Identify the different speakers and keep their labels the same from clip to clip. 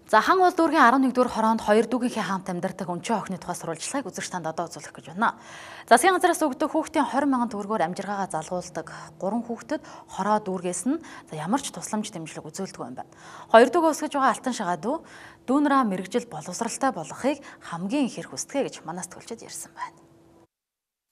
Speaker 1: За хан улс дүүргийн 11-р хороонд 2 дүүгийнхээ хамт амьдардаг өнчөө охины тухай сурвалжлагыг үзэгч танд одоо үзүүлэх гэж байна. Засгийн газраас өгдөг хүүхдийн 20 мянган төгрөгөөр амжиргаагаа залгуулдаг 3 хүүхдэд хороо дүүргээс нь ямар ч тусламж дэмжлэг үзүүлдэг юм байна. 2 дүүгээ өсгөж байгаа алтан шагаа дүүнраа мэрэгжил боловсралтай болгохыг хамгийн их хүсдэг гэж манаас төлчөд ярьсан байна.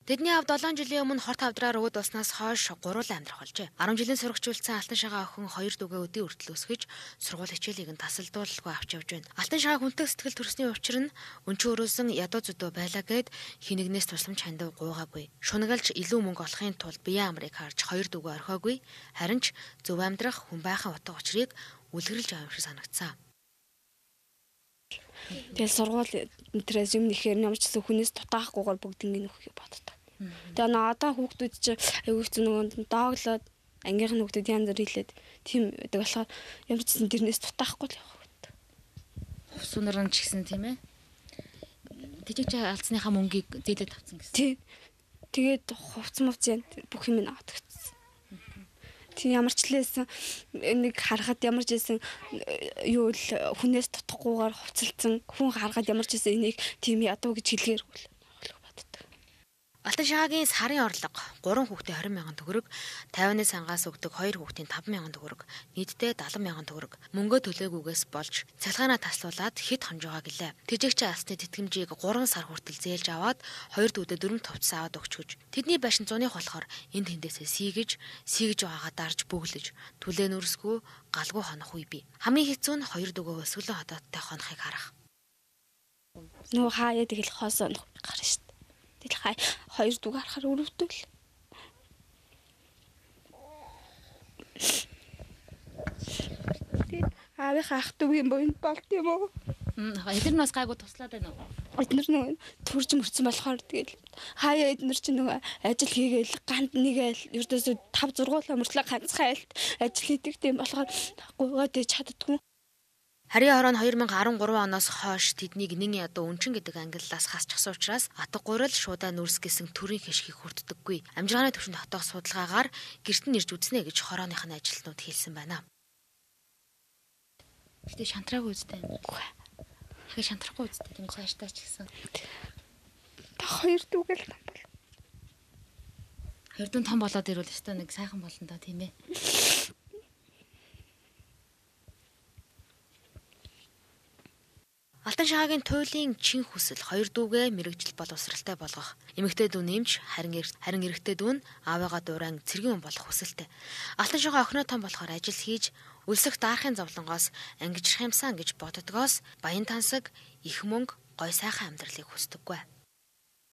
Speaker 2: Тэдний авд 7 жилийн өмнө хорт хавдраар өөд болсноос хойш гурван амьдрах болжээ. 10 жилийн сурагчулсан алтан шагаа охин 2 дүүгээ өдий хүртэл өсгөж сургууль хичээлийг нь тасалдуулалгүй авч явж байна. Алтан шагаа хүнтэй сэтгэл төрсний учир нь өнчөө өрөөсөн ядуу зүдөө байлаа гэд хинэгнээс тусламж хандив гуйгаагүй. Шунагалж илүү мөнгө олохын тулд биеэ амрыг харж 2 дүүгээ орхиогүй. Харин ч зөв амьдрах хүн байхын утга учирыг үлгэрлж байгаа юм шиг санагдсан.
Speaker 3: Тэгэл сургууль интерес юм нэхэр ямар ч хүнээс дутаахгүйгээр бүгднийг нөхөхийг боддог. Тэгээ надаа хүүхдүүд чи аягүй ч нөгөө дооглоод ангийнх нь хүүхдүүд янз бүр хэлээд тийм байдаг болохоор ямар ч гэсэн тэрнээс дутаахгүй л явах хэрэгтэй.
Speaker 2: Хувцсунаар нь ч гэсэн тийм ээ. Тэжиг чи алдсныхаа мөнгийг зээлээд авсан гэсэн.
Speaker 3: Тийм. Тэгээд хувцс мовц бүх юм аваад өгсөн. Тийм ямар ч лээсэн нэг харахад ямар ч байсан юу л хүнээс дутахгүйгээр хувцалцсан хүн харахад ямар ч байсан энийг тийм ядуу гэж хэлгээргүй л боддог.
Speaker 2: Алтан шагаагийн сарын орлого 3 хүүхдээ 20 мянган төгрөг, 50-ны сангаас өгдөг 2 хүүхдийн 5 мянган төгрөг, нийтдээ 70 мянган төгрөг. Мөнгө төлөөгүйгээс болж цалгаанаа таслуулаад хэд хонж байгаа гэлээ. Тэжигч алсны тэтгэмжийг 3 сар хүртэл зээлж аваад 2 дүүдэд 4 товц аваад өгч гэж. Тэдний байшин зуных болохоор энд тэндээсээ сийгэж байгаагаа дарж бөглөж, түлээн өрсгөө галгүй хонох үе бий. Хамгийн хэцүү нь 2 дүүгээ өсгөлөн хотоодтой хонохыг харах.
Speaker 3: Нөө хаяа тэгэл хоосоо гарна шүү. Тэгэл 2 дүүг харахаар өрөвдөл. Аавынхаа ах дүүгийн боёнд болт юм уу?
Speaker 2: Эдгээр нь бас гайгүй туслаад байна уу?
Speaker 3: Эдгээр нь төрж мөрцөн болохоор тэгэл хаяа эдгээр чинь нөгөө ажил хийгээл ганд нэгээл ердөөсөө 5 6 мөртлөө ганцхан айлт ажил хийдэг тийм болохоор гуйгаад чаддгүй.
Speaker 2: Харийн хороо нь 2013 оноос хойш тэднийг нэн ядуу өнчин гэдэг ангиллаас хасчихсан учраас атга гурил шуудаа нүрс гэсэн төрийн хишгийг хүртдэггүй. Амжиргааны төвшөнд хотоох судалгаагаар гэрт нь ирж үзнэ гэж хорооных нь ажилтнууд хэлсэн байна. Гэтэ шантраагүй үстэй. Хэ шантрахгүй үстэй тийм цаашдаа ч гэсэн.
Speaker 3: Та 2 дүүгэл том бол.
Speaker 2: 2 дүүн том болоод ирвэл өстой нэг сайхан болно доо тийм ээ. Алтан шагаагийн туйлын чин хүсэл 2 дүүгээ мэрэгжил боловсралтай болгох. Эмэгтэй дүү нэмж харин эрэгтэй дүү нь аавыгаа дуурайн цэргийн хүн болох хүсэлтэй. Алтан шагаа охиноо том болохоор ажил хийж өлсөх даахын зовлонгоос ангижрах юмсан гэж боддгоос баян тансаг, их мөнгө, гой сайхан амьдралыг хүсдэггүй.